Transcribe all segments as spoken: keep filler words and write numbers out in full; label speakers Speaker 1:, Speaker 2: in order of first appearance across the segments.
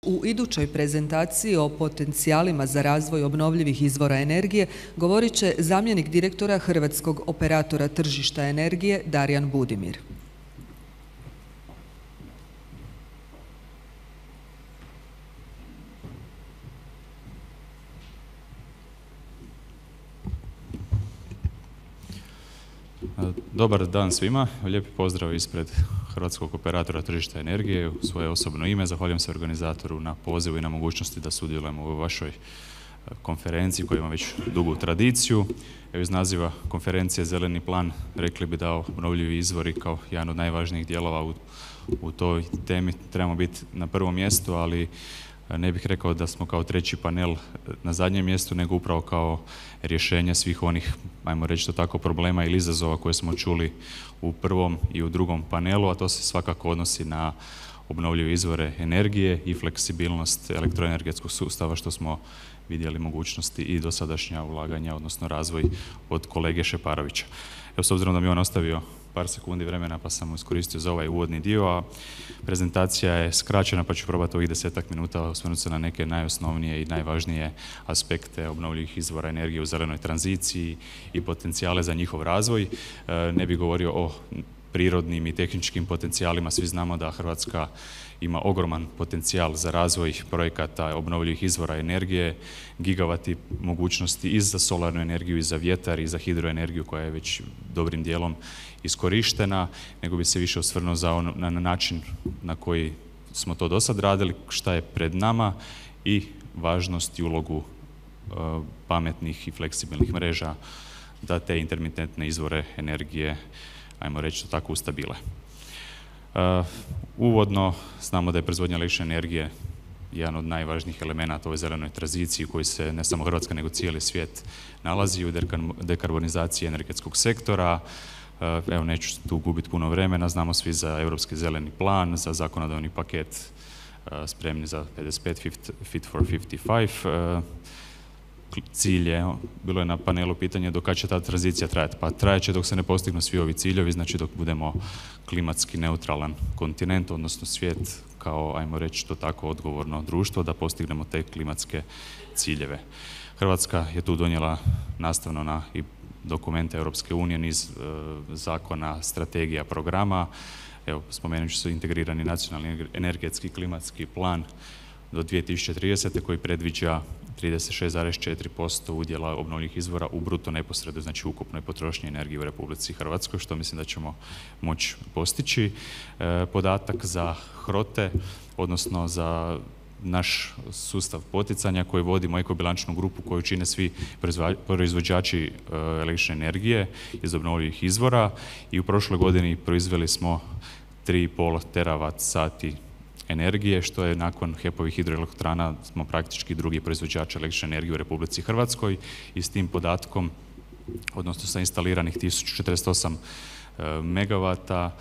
Speaker 1: U idućoj prezentaciji o potencijalima za razvoj obnovljivih izvora energije govorit će zamjenik direktora Hrvatskog operatora tržišta energije Darijan Budimir.
Speaker 2: Dobar dan svima, lijepi pozdrav ispred Hrvatskog operatora tržišta energije. U svoje osobno ime zahvaljujem se organizatoru na pozivu i na mogućnosti da sudjelujemo u vašoj konferenciji koja ima već dugu tradiciju. Evo iz naziva konferencije Zeleni plan rekli bi da obnovljivi izvori kao jedan od najvažnijih dijelova u, u toj temi trebamo biti na prvom mjestu, ali ne bih rekao da smo kao treći panel na zadnjem mjestu, nego upravo kao rješenje svih onih, ajmo reći to tako, problema ili izazova koje smo čuli u prvom i u drugom panelu, a to se svakako odnosi na obnovljive izvore energije i fleksibilnost elektroenergetskog sustava, što smo vidjeli mogućnosti i dosadašnja ulaganja, odnosno razvoj od kolege Šeparovića. Evo, s obzirom da mi on ostavio par sekundi vremena, pa sam iskoristio za ovaj uvodni dio, a prezentacija je skraćena, pa ću probati ovih desetak minuta osvrnuti se na neke najosnovnije i najvažnije aspekte obnovljivih izvora energije u zelenoj tranziciji i potencijale za njihov razvoj. Ne bih govorio o prirodnim i tehničkim potencijalima. Svi znamo da Hrvatska ima ogroman potencijal za razvoj projekata obnovljivih izvora energije, gigavati mogućnosti i za solarnu energiju, i za vjetar, i za hidroenergiju koja je već dobrim dijelom iskorištena, nego bi se više osvrnuo za ono, na način na koji smo to do sad radili, šta je pred nama i važnost i ulogu uh, pametnih i fleksibilnih mreža da te intermitentne izvore energije, ajmo reći to tako, ustabile. Uh, uvodno znamo da je proizvodnja električne energije jedan od najvažnijih elemenata u ovoj zelenoj tranziciji u kojoj se ne samo Hrvatska nego cijeli svijet nalazi u dekarbonizaciji energetskog sektora. Uh, evo, neću tu gubiti puno vremena, znamo svi za Europski zeleni plan, za zakonodavni paket uh, spremni za pedeset pet Fit for pedeset pet. Uh, cilj je, bilo je na panelu pitanje do kada će ta tranzicija trajati. Pa trajat će dok se ne postignu svi ovi ciljevi, znači dok budemo klimatski neutralan kontinent, odnosno svijet kao, ajmo reći to tako, odgovorno društvo, da postignemo te klimatske ciljeve. Hrvatska je tu donijela nastavno na i dokumente Europske unije, niz e, zakona, strategija, programa. Evo, spomenut ću se integrirani nacionalni energetski klimatski plan do dvije tisuće tridesete koji predviđa trideset šest zarez četiri posto udjela obnovljivih izvora u bruto neposrednoj, znači ukupnoj potrošnji energije u Republici Hrvatskoj, što mislim da ćemo moći postići. E, podatak za HROTE, odnosno za naš sustav poticanja koji vodimo ekobilančnu grupu koju čine svi proizvođači električne energije iz obnovljivih izvora, i u prošloj godini proizveli smo tri i pol teravat sati energije, što je nakon HEP-ovih hidroelektrana smo praktički drugi proizvođač električne energije u Republici Hrvatskoj, i s tim podatkom, odnosno sa instaliranih tisuću četrdeset osam megavata,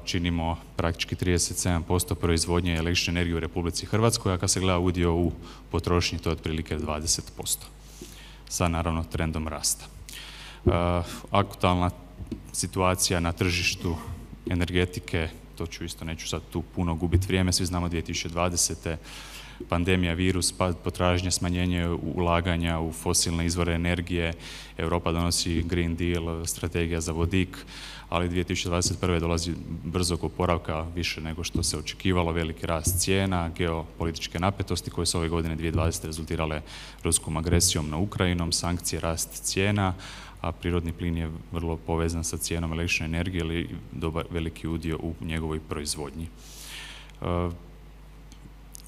Speaker 2: činimo praktički trideset sedam posto proizvodnje električne energije u Republici Hrvatskoj, a kad se gleda udio u potrošnji, to je otprilike dvadeset posto, sa naravno trendom rasta. Aktualna situacija na tržištu energetike, to ću isto, neću sad tu puno gubiti vrijeme, svi znamo dvije tisuće dvadesete pandemija, virus, pad potražnje, smanjenje ulaganja u fosilne izvore energije, Europa donosi Green Deal, strategija za vodik, ali dvije tisuće dvadeset prve dolazi brzog oporavka, više nego što se očekivalo, veliki rast cijena, geopolitičke napetosti koje su ove godine dvije tisuće dvadesete rezultirale ruskom agresijom na Ukrajinom, sankcije, rast cijena, a prirodni plin je vrlo povezan sa cijenom električne energije ili dobar veliki udio u njegovoj proizvodnji.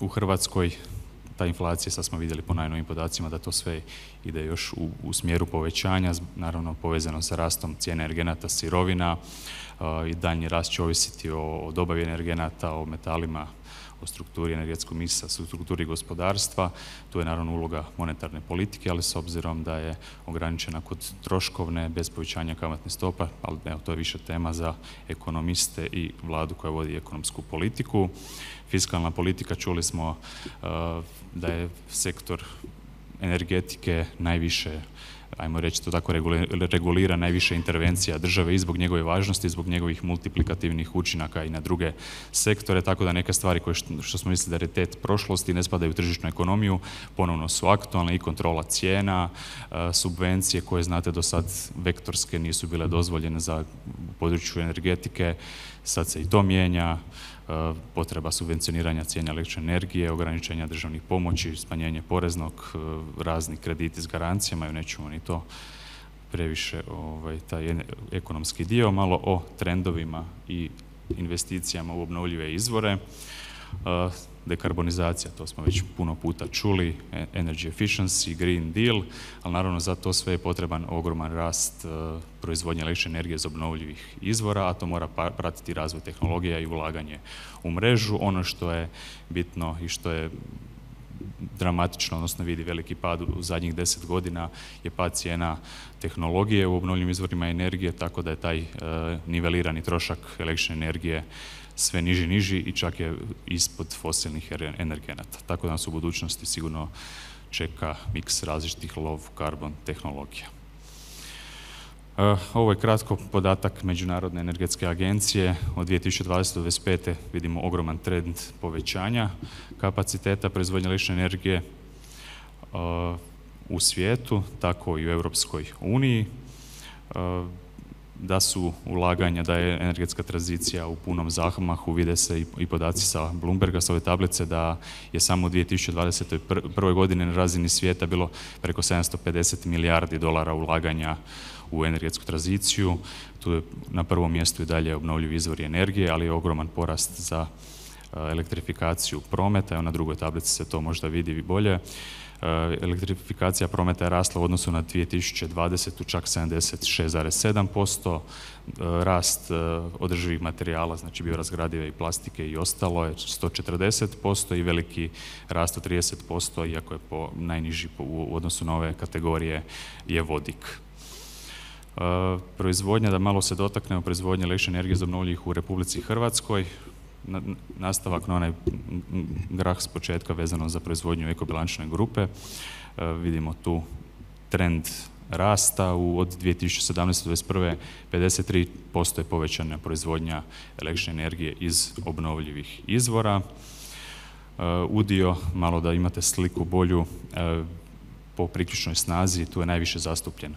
Speaker 2: U Hrvatskoj ta inflacija, sad smo vidjeli po najnovim podacima da to sve ide još u, u smjeru povećanja, naravno povezano sa rastom cijene energenata, sirovina, i daljnji rast će ovisiti o, o dobavi energenata, o metalima, o strukturi energetskog miksa, strukturi gospodarstva. Tu je naravno uloga monetarne politike, ali s obzirom da je ograničena kod troškovne, bez povećanja kamatne stopa, ali evo, to je više tema za ekonomiste i vladu koja vodi ekonomsku politiku. Fiskalna politika, čuli smo uh, da je sektor energetike najviše uh, ajmo reći to tako, regulira najviše intervencija države i zbog njegove važnosti, zbog njegovih multiplikativnih učinaka i na druge sektore, tako da neke stvari koje što, što smo mislili da je raritet prošlosti ne spadaju u tržišnu ekonomiju, ponovno su aktualne i kontrola cijena, subvencije koje znate do sad vektorske nisu bile dozvoljene za području energetike, sad se i to mijenja, potreba subvencioniranja cijene električne energije, ograničenja državnih pomoći, smanjenje poreznog, razni krediti s garancijama i nećemo ni to previše ovaj, taj ekonomski dio, malo o trendovima i investicijama u obnovljive izvore. Dekarbonizacija, to smo već puno puta čuli, energy efficiency, green deal, ali naravno za to sve je potreban ogroman rast uh, proizvodnje električne energije iz obnovljivih izvora, a to mora pratiti razvoj tehnologija i ulaganje u mrežu. Ono što je bitno i što je dramatično, odnosno vidi veliki pad u zadnjih deset godina, je pad cijena tehnologije u obnovljivim izvorima energije, tako da je taj uh, nivelirani trošak električne energije sve niži i niži i čak je ispod fosilnih energenata. Tako da nas u budućnosti sigurno čeka miks različitih low carbon tehnologija. Uh, ovo je kratko podatak Međunarodne energetske agencije. Od dvije tisuće dvadesete do dvije tisuće dvadeset pete vidimo ogroman trend povećanja kapaciteta proizvodnje električne energije uh, u svijetu, tako i u Europskoj uniji. Uh, da su ulaganja, da je energetska tranzicija u punom zamahu, vide se i, i podaci sa Bloomberga, sa ove tablice, da je samo u dvije tisuće dvadeset prve godine na razini svijeta bilo preko sedamsto pedeset milijardi dolara ulaganja u energetsku tranziciju. Tu je na prvom mjestu i dalje obnovljivi izvori energije, ali je ogroman porast za elektrifikaciju prometa. Evo na drugoj tablici se to možda vidi bolje. Elektrifikacija prometa je rasla u odnosu na dvije tisuće dvadesetu čak sedamdeset šest zarez sedam posto, rast održivih materijala, znači biorazgradive i plastike i ostalo je sto četrdeset posto i veliki rast od trideset posto, iako je po najniži u odnosu na ove kategorije je vodik. Proizvodnja, da malo se dotaknemo proizvodnje električne energije iz obnovljivih u Republici Hrvatskoj. Nastavak na onaj grah s početka vezano za proizvodnju ekobilančne grupe. E, vidimo tu trend rasta u, od dvije tisuće sedamnaeste do dvije tisuće dvadeset prve pedeset tri posto je povećana proizvodnja električne energije iz obnovljivih izvora. E, udio, malo da imate sliku bolju, e, po priključnoj snazi, tu je najviše zastupljen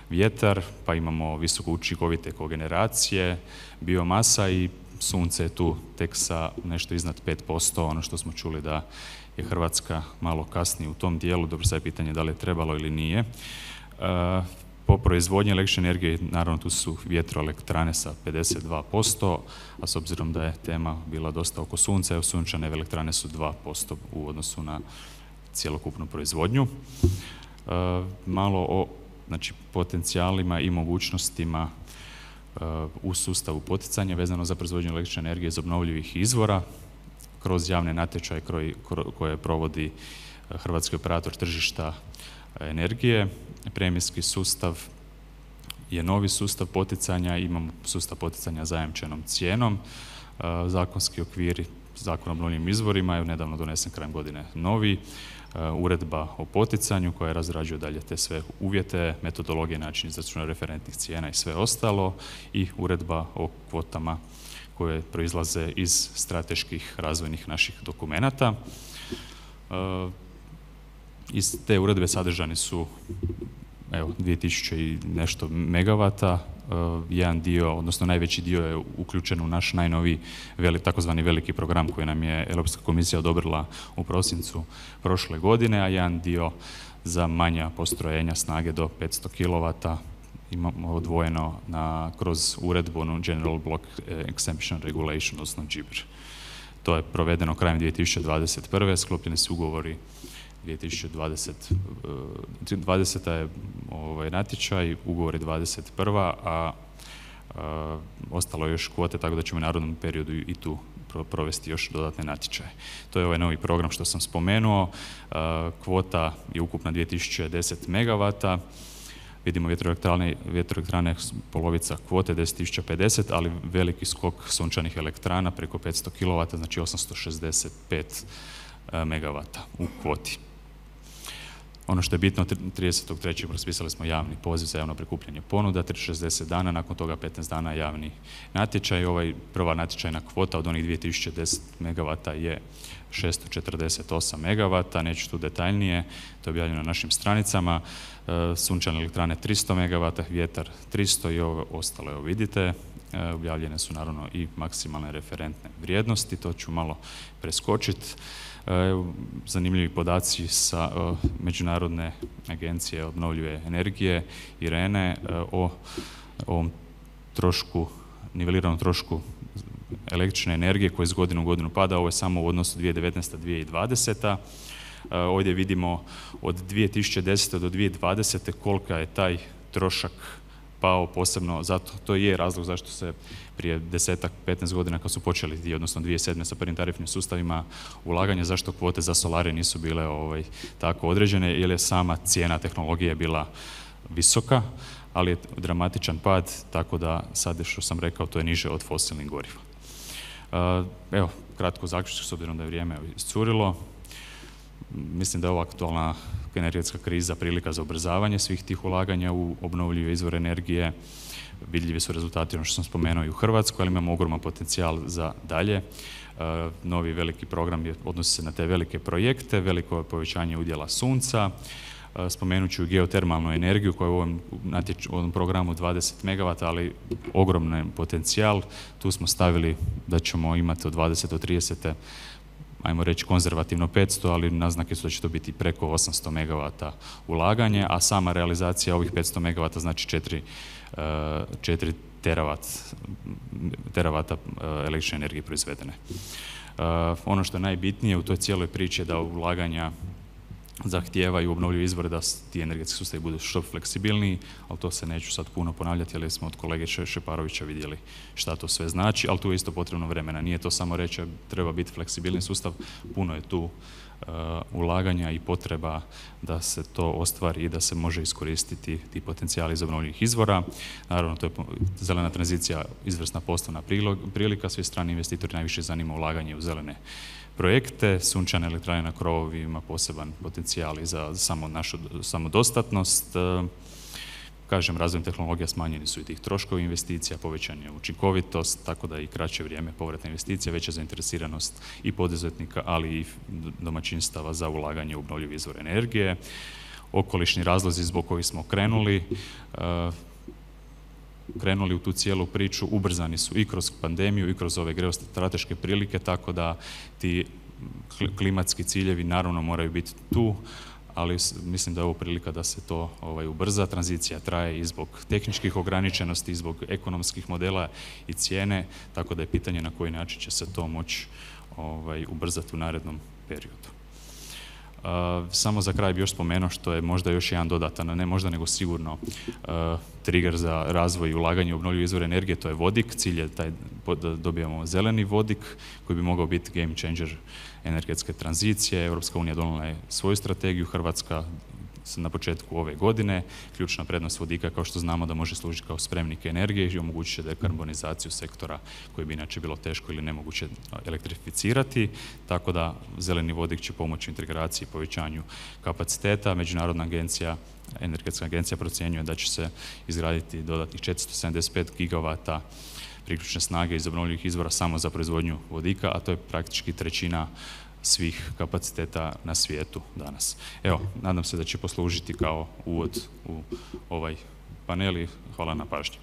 Speaker 2: vjetar, pa imamo visoko učinkovite kogeneracije, biomasa i sunce je tu tek sa nešto iznad pet posto, ono što smo čuli da je Hrvatska malo kasnije u tom dijelu, dobro sad je pitanje da li je trebalo ili nije. E, po proizvodnji električne energije, naravno tu su vjetroelektrane sa pedeset dva posto, a s obzirom da je tema bila dosta oko sunca, sunčane elektrane su dva posto u odnosu na cjelokupnu proizvodnju. E, malo o znači, potencijalima i mogućnostima u sustavu poticanja vezano za proizvodnju električne energije iz obnovljivih izvora kroz javne natječaje koje provodi Hrvatski operator tržišta energije. Premijski sustav je novi sustav poticanja, imamo sustav poticanja zajamčenom cijenom. Zakonski okviri, Zakon o obnovljivim izvorima je nedavno donesen krajem godine novi. Uredba o poticanju koja razrađuje dalje te sve uvjete, metodologije, način izračuna referentnih cijena i sve ostalo, i uredba o kvotama koje proizlaze iz strateških razvojnih naših dokumenata. Iz te uredbe sadržani su evo, dvije tisuće i nešto megavata, jedan dio, odnosno najveći dio je uključen u naš najnoviji veli, takozvani veliki program koji nam je Europska komisija odobrila u prosincu prošle godine, a jedan dio za manja postrojenja snage do petsto kilovata imamo odvojeno na, kroz uredbu General Block Exemption Regulation, odnosno G I B R. To je provedeno krajem dvije tisuće dvadeset prve. Sklopljeni su ugovori dvije tisuće dvadeseta je ovaj natječaj, ugovor je dvadeset prva, a, a ostalo je još kvote, tako da ćemo u narodnom periodu i tu provesti još dodatne natječaje. To je ovaj novi program što sam spomenuo. A, kvota je ukupna dvije tisuće deset megavata. Vidimo vjetroelektrane, vjetroelektrane polovica kvote deset tisuća pedeset, ali veliki skok sunčanih elektrana preko petsto kilovata, znači osamsto šezdeset pet megavata u kvoti. Ono što je bitno, tridesetog trećeg raspisali smo javni poziv za javno prikupljanje ponuda, šezdeset dana, nakon toga petnaest dana javni natječaj. Ovaj prva natječajna kvota od onih dvije tisuće deset megavata je šesto četrdeset osam megavata, neću tu detaljnije, to je objavljeno na našim stranicama. Sunčane elektrane tristo megavata, vjetar tristo i ovo ostalo, evo vidite. Objavljene su naravno i maksimalne referentne vrijednosti, to ću malo preskočiti. Zanimljivi podaci sa Međunarodne agencije obnovljive energije, IRENE, o ovom trošku, niveliranom trošku električne energije koji iz godine u godinu pada. Ovo je samo u odnosu dvije tisuće devetnaesta do dvije tisuće dvadeseta. Ovdje vidimo od dvije tisuće desete do dvije tisuće dvadesete kolika je taj trošak pao, posebno zato, to je razlog zašto se prije desetak, petnaest godina kad su počeli, odnosno dvije tisuće sedme sa prvim tarifnim sustavima ulaganja, zašto kvote za solare nisu bile ovaj, tako određene, jer je sama cijena tehnologije bila visoka, ali je dramatičan pad, tako da sad što sam rekao, to je niže od fosilnih goriva. Evo, kratko zaključak, s obzirom da je vrijeme iscurilo. Mislim da je ova aktualna energetska kriza prilika za ubrzavanje svih tih ulaganja u obnovljive izvore energije. Vidljivi su rezultati, ono što sam spomenuo, i u Hrvatskoj, ali imamo ogroman potencijal za dalje. Novi veliki program je, odnosi se na te velike projekte, veliko povećanje udjela sunca. Spomenut ću geotermalnu energiju koja je u ovom, natječ, u ovom programu dvadeset megavata, ali ogroman potencijal. Tu smo stavili da ćemo imati od dvadesete do tridesete ajmo reći konzervativno petsto, ali naznake su da će to biti preko osamsto megavata ulaganje, a sama realizacija ovih petsto megavata znači četiri teravata električne energije proizvedene. Ono što je najbitnije u toj cijeloj priči je da ulaganja zahtijevaju obnovljive izvore, da ti energetski sustavi budu što fleksibilniji, ali to se neću sad puno ponavljati, jer smo od kolege Šeparovića vidjeli šta to sve znači, ali tu je isto potrebno vremena. Nije to samo reći treba biti fleksibilni sustav, puno je tu uh, ulaganja i potreba da se to ostvari i da se može iskoristiti ti potencijali iz obnovljivih izvora. Naravno, to je zelena tranzicija, izvrsna poslovna prilika, svi strani investitori najviše zanima ulaganje u zelene projekte, sunčane elektrane na krovovima poseban potencijal i za samo našu samodostatnost. Kažem, razvojem tehnologija smanjeni su i tih troškovi investicija, povećan je učinkovitost, tako da i kraće vrijeme povratne investicije, veća zainteresiranost i poduzetnika, ali i domaćinstava za ulaganje u obnovljive izvore energije. Okolišni razlozi zbog kojih smo krenuli, krenuli u tu cijelu priču, ubrzani su i kroz pandemiju i kroz ove geostrateške prilike, tako da ti klimatski ciljevi naravno moraju biti tu, ali mislim da je ovo prilika da se to ovaj, ubrza. Tranzicija traje i zbog tehničkih ograničenosti, i zbog ekonomskih modela i cijene, tako da je pitanje na koji način će se to moći ovaj, ubrzati u narednom periodu. Uh, samo za kraj bi još spomenuo što je možda još jedan dodatan, ne možda nego sigurno uh, trigger za razvoj i ulaganje u obnovljive izvore energije, to je vodik. Cilj je taj da dobijemo zeleni vodik koji bi mogao biti game changer energetske tranzicije. Europska unija donijela je svoju strategiju, Hrvatska na početku ove godine. Ključna prednost vodika, kao što znamo, da može služiti kao spremnik energije i omogućit će dekarbonizaciju sektora koji bi inače bilo teško ili nemoguće elektrificirati, tako da zeleni vodik će pomoći integraciji i povećanju kapaciteta. Međunarodna agencija, energetska agencija procjenjuje da će se izgraditi dodatnih četiristo sedamdeset pet gigavata priključne snage iz obnovljivih izvora samo za proizvodnju vodika, a to je praktički trećina svih kapaciteta na svijetu danas. Evo, nadam se da će poslužiti kao uvod u ovaj panel i hvala na pažnji.